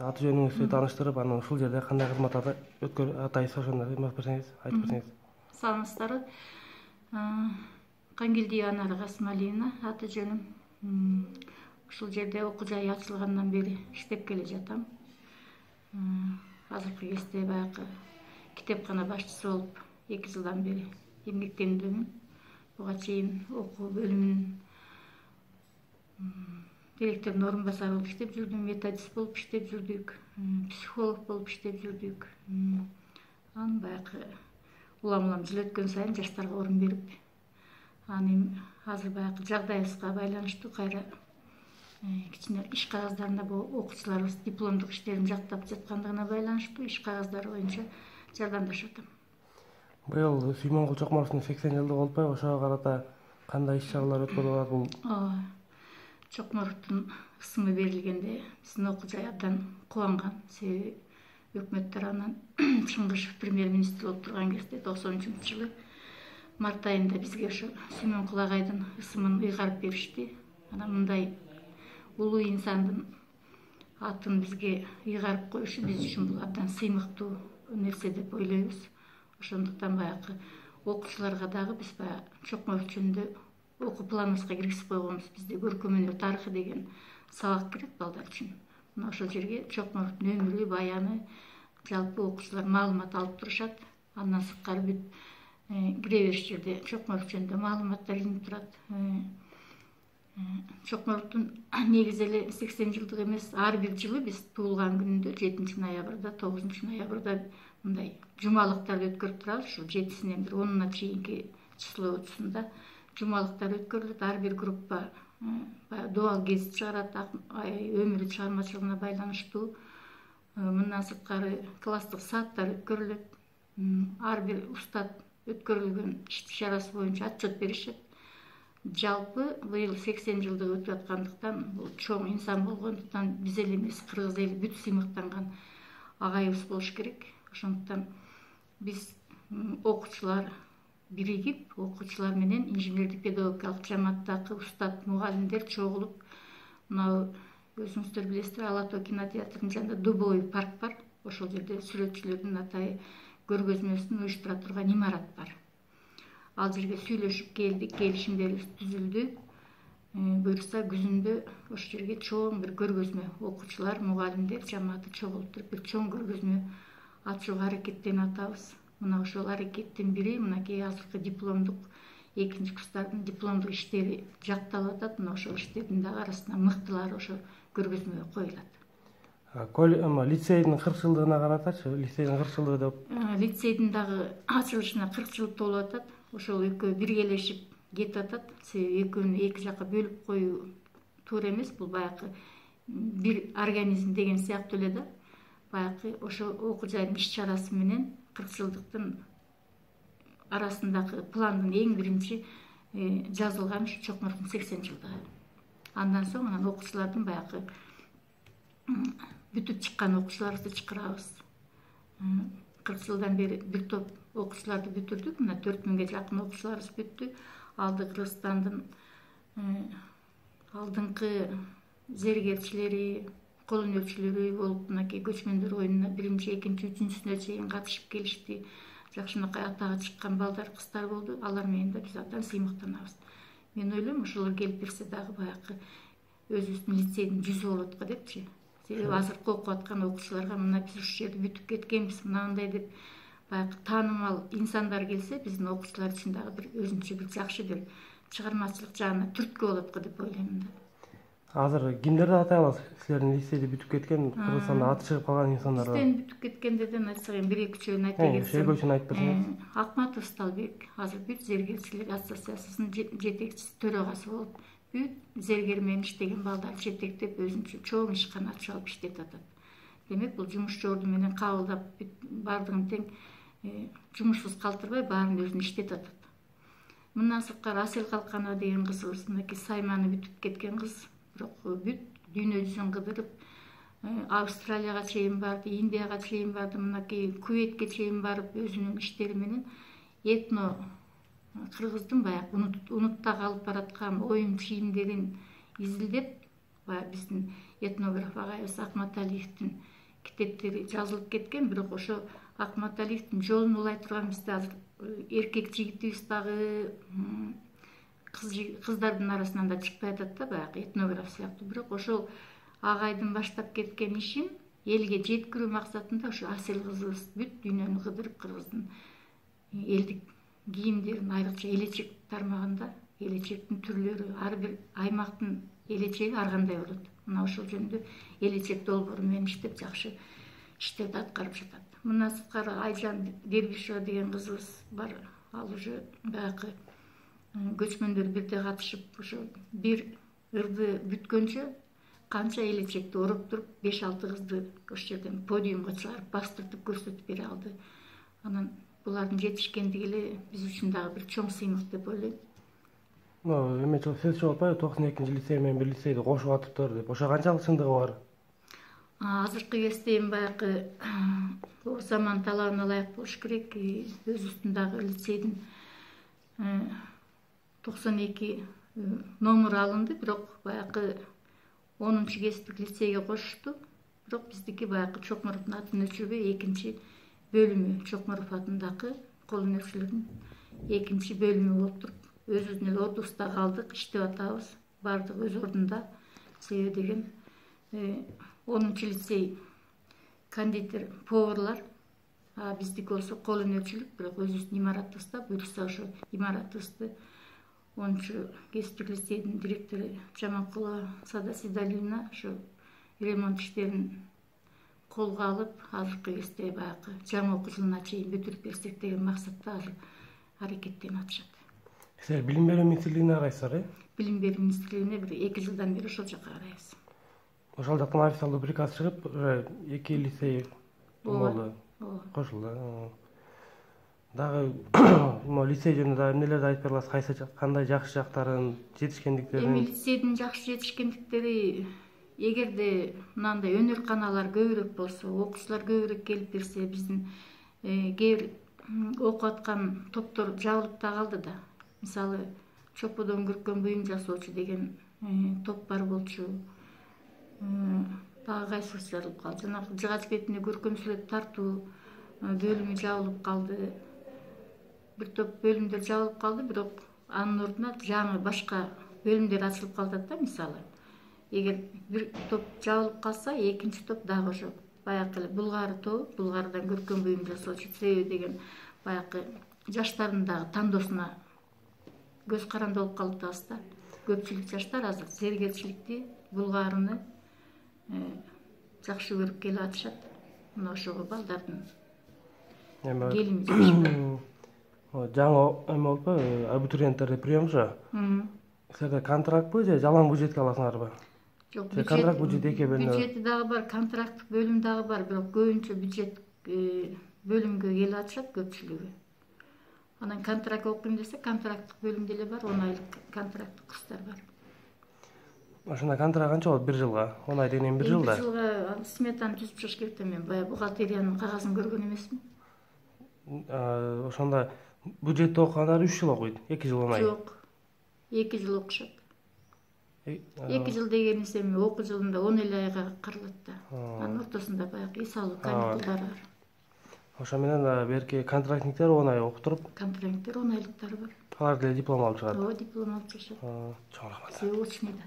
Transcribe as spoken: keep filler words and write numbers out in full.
аты жөнүңүздү тааныштырып, анан ушул жерде кандай кызмат атайсыз ошону эметип берсеңиз, айтып берсеңиз. Саламатсыздарбы. Кангелдиева Анара Касымалиевна аты жөнүм. Ушул жерде окуу жай ачылгандан бери иштеп келе жатам. Азыркы кезде баягы китепкана башчысы болуп эки жылдан бери эмгектенүүдөмүн. Буга чейин окуу бөлүмүнүн директорунун орун басары болуп иштеп жүрдүм, методист болуп иштеп жүрдүк, психолог болуп иштеп жүрдүк. Анан баягы улам улам жыл өткөн сайын жаштарга орун берип, анан азыр баягы жагдайыбызга байланыштуу кайра кичине иш кагаздарында бул окуучуларыбыз дипломдук иштерин жактап жаткандыгына байланыштуу иш кагаздары боюнча жардамдашып атам. Быйыл Сүймөнгул Чокморовдун сексен жылдыгы болуп атпайбы? Ошого карата кандай иш чаралар өткөрүлүп атат бул? Ооба. Чокморовдун ысымы берилгенде биздин окуу жай абдан кубанган. Себеби өкмөт тарабынан Чыңгышев премьер-министр болуп турган кезде токсон үчүнчү жылы март айында бизге ошо Сүймөнгул агайдын ысымын ыйгарып беришти. Анан мындай улуу инсандын атын бизге ыйгарып коюшу биз үчүн бул абдан сыймыктуу нерсе деп ойлойбуз. Ошондуктан баягы окуучуларга дагы биз баягы Чокморов жөнүндө окуу планыбызга киргизип койгонбуз. Бизде көркөм өнөр тарыхы деген сабак керек балдар үчүн. Мына ошол жерге Чокморовдун өмүрү, баяны, жалпы окуучулар маалымат алып турушат. Андан сырткары бүт кире бериш жерде Чокморов жөнүндө маалыматтар илинип турат. Чокморовдун негизи эле сексен жылдыгы эмес, ар бир жылы биз туулган күнүндө жетинчи ноябрда, тогузунчу ноябрда мындай жумалыктарды өткөрүп турабыз. Ушул жетисинен бир онуна чейинки числосунда жумалыктар өткөрүлөт. Ар бир группа баягы дубал гезит чыгарат, өмүрү чыгармачылыгына байланыштуу. Мындан сырткары класстык сааттар өткөрүлөт. Ар бир устат өткөрүлгөн иш чарасы боюнча отчет беришет. Жалпы быйыл сексен жылдыгы өтүп аткандыктан, бул чоң инсан болгондуктан биз эле эмес, кыргыз эли бүт сыймыктанган агайыбыз болуш керек. Ошондуктан биз окуучулар биригип, окуучулар менен инженердик педагогикалык жамааттагы устат, мугалимдер чогулуп, мына өзүңүздөр билесиздер, Ала Тоо кинотеатрынын жанында Дубовый парк бар. Ошол жерде сүрөтчүлөрдүн атайы көргөзмөсүн уюштура турган имарат бар. Ал жерге сүйлөшүп келдик, келишимдерибиз түзүлдү. Буюрса күзүндө ошол жерге чоң бир көргөзмө, окуучулар, мугалимдер жамааты чогулуп туруп бир чоң көргөзмө ачууга аракеттенип атабыз. Мына ошол аракеттин бири мынакей азыркы дипломдук, экинчи курстардын дипломдук иштери жакталып атат. Мына ошол иштердин дагы арасында мыктылары ошол көргөзмөгө коюлат. Лицейдин кырк жылдыгына каратачы, лицейдин кырк жылдыгы деп. Лицейдин дагы ачылышына кырк жыл толуп атат. Ошол экөө биргелешип кетип атат. Себеби экөөнү эки жакка бөлүп коюу туура эмес. Бул баягы бир организм деген сыяктуу эле да. Баягы ошол окуу жайдын иш чарасы менен кырк жылдыктын арасындагы пландын эң биринчи жазылган ушу Чокморовдун сексен жылдыгы. Андан соң анан окуучулардын баягы бүтүп чыккан окуучуларыбызды чакырабыз. кырк жылдан бери бир топ окуучуларды бүтүрдүк. Мына төрт миңге жакын окуучуларыбыз бүттү. Алды Кыргызстандын алдыңкы зергерчилери, кол өнөрчүлөрү болуп, мынакей көчмөндөр оюнуна биринчи, экинчи, үчүнчүсүнө чейин катышып келишти. Жакшынакай атага чыккан балдар, кыздар болду. Алар менен да биз абдан сыймыктанабыз. Мен ойлойм, ошолор келип берсе дагы баягы өзүбүздүн лицейдин жүзү болот го депчи. Себеби азыркы окуп аткан окуучуларга мына биз ушул жерде бүтүп кеткенбиз, мынандай деп баягы таанымал инсандар келсе, биздин окуучулар үчүн дагы бир өзүнчө бир жакшы бир чыгармачылык жагына түрткү болот го деп ойлойм да. Азыр кимдерди атай аласыз? Силердин лицейди бүтүп кеткен, Кыргызстанда аты чыгып калган инсандар бар. Бизден бүтүп кеткендерден айтсак эми бир эки үчөөнү айта кетсем. Шейгөчүн айтып берсеңиз. Акматов Сталбек азыр бүт зергерчилер ассоциациясынын жетекчиси, төрагасы болуп, бүт зергер менен иштеген балдар жетектеп өзүнчө чоң ишкана ачып алып иштетип атат. Демек бул жумушчу орду менен кабылдап баардыгын тең жумушсуз калтырбай баарын өзүн иштетип атат. Мындан сырткары Асел Калканова деген кызыбыз, мынакей Сайманы бүтүп кеткен кыз, бирок бүт дүйнө жүзүн кыдырып, Австралияга чейин барды, Индияга чейин барды, мынакей Куветке чейин барып өзүнүн иштери менен этно кыргыздын баягы унутта калып бараткан оюн чийимдерин изилдеп, баягы биздин этнограф агайыбыз Акматалиевдин китептери жазылып кеткен, бирок ошо Акматалиевдин жолун улай турган бизде азыр эркек жигитибиз дагы кыздардын арасынан да чыкпай атат да, баягы этнограф сыяктуу. Бирок ошол агайдын баштап кеткен ишин элге жеткирүү максатында ошо Асел кызыбыз бүт дүйнөнү кыдырып, кыргыздын элдик кийимдерин, айрыкча элечек тармагында, элечектин түрлөрү, ар бир аймактын элечеги ар кандай болот. Мына ошол жөнүндө элечек долбоору менен иштеп жакшы иштерди аткарып жатат. Мындан сырткары Айжан Дербишева деген кызыбыз бар. Ал уже баягы көчмөндөр бирде катышып, ошо бир ырды бүткөнчө канча элечекти ороп туруп, беш алты кызды ошол жерден подиумга чыгарып, бастыртып көрсөтүп бере алды. Анан булардын жетишкендиги эле биз үчүн дагы бир чоң сыймык деп ойлойм. Эме сөз чыгып атпайбы, токсон экинчи лицей менен бир лицейди кошуп атыптыр деп. Ошо канчалык чындыгы бар? Азыркы кезде эми баягы заман талабына ылайык болуш керек. Өзүбүздүн дагы лицейдин токсон эки номер алынды, бирок баягы онунчу кесиптик лицейге кошушту. Бирок биздики баягы Чокморовдун атын өчүрбөй экинчи бөлүмү, Чокморов атындагы кол өнөрчүлүктүн экинчи бөлүмү болуп туруп, өзүбүздүн эле отубузда калдык, иштеп атабыз. Бардык өз ордунда. Себеби деген онунчу лицей кондитер, поварлар, а биздики болсо кол өнөрчүлүк, бирок өзүбүздүн имаратыбызда, буюрса ошо имаратыбызды онунчу кесиптик лицейдин директору Жаманкулова Сада Сидалиевна ошо ремонт иштерин колго алып, азыркы кезде баягы жаңы окуу жылына чейин бүтүрүп берсек деген максатта азыр аракеттенип атышат. Силер билим берүү министрлигине карайсыздар, э? Билим берүү министрлигине бир эки жылдан бери ошол жака карайбыз. Ошол жактан официалдуу приказ чыгып, эки лицей болду, кошулду. Дагы могу лицей жөнүндө дагы эмнелерди айтып бере аласыз? Кайсы кандай жакшы жактарын, жетишкендиктерин? Эми лицейдин жакшы жетишкендиктери, эгерде мынандай өнөрканалар көбүрөөк болсо, окуучулар көбүрөөк келип берсе, биздин кээ бир окуп аткан топтор жабылып да калды да. Мисалы, чоподон көркөм буюм жасоочу деген топ бар болчу. Дагы кайсысы жабылып калды? Жанагы жыгач бетине көркөм сүрөт тартуу бөлүмү жабылып калды. Бир топ бөлүмдөр жабылып калды, бирок анын ордуна жаңы башка бөлүмдөр ачылып калат да. Мисалы, эгер бир топ жабылып калса, экинчи топ дагы ошо баягы эле Булгары тобу, Булгарыдан көркөм буюм жасоочу себеби деген баягы жаштардын дагы тандоосуна көз каранды болуп калыптабыз да. Көпчүлүк жаштар азыр зергерчиликти, Булгарыны жакшы көрүп келип атышат. Мына ошого балдардын келини жакшы. Жаңы эме болуппу, абитуриенттерде приемчу. Силерде контрактпы же жалаң бюджетке аласыңарбы? Жок, контракт бюджет эки бөлүнөт. Бюджети дагы бар, контракттык бөлүм дагы бар, бирок көбүнчө бюджет бөлүмгө келип атышат көпчүлүгү. Анан контракт окуйм десе, контракттык бөлүмдө эле бар, он айлык контракттык курстар бар. Ошондо контракт канча болот бир жылга? он ай деген бир жылда? Бир жылга сметаны түзүп чыгыш керек да, мен баягы бухгалтериянын кагазын көргөн эмесмин. Ошондо бюджетте окугандар үч жыл окуйт, эки жыл он ай. Жок, эки жыл окушат. эки жыл дегенибиз эми окуу жылында он эле айга каралат да. Анын ортосунда баягы эс алуу каникулдары бар. Ошо менен берки контрактниктер он ай окуп туруп, контрактниктер он айлыктары бар. алар деле диплом алып чыгат. Ооба, диплом алып чыгышат. Чоң рахмат. Все очный да.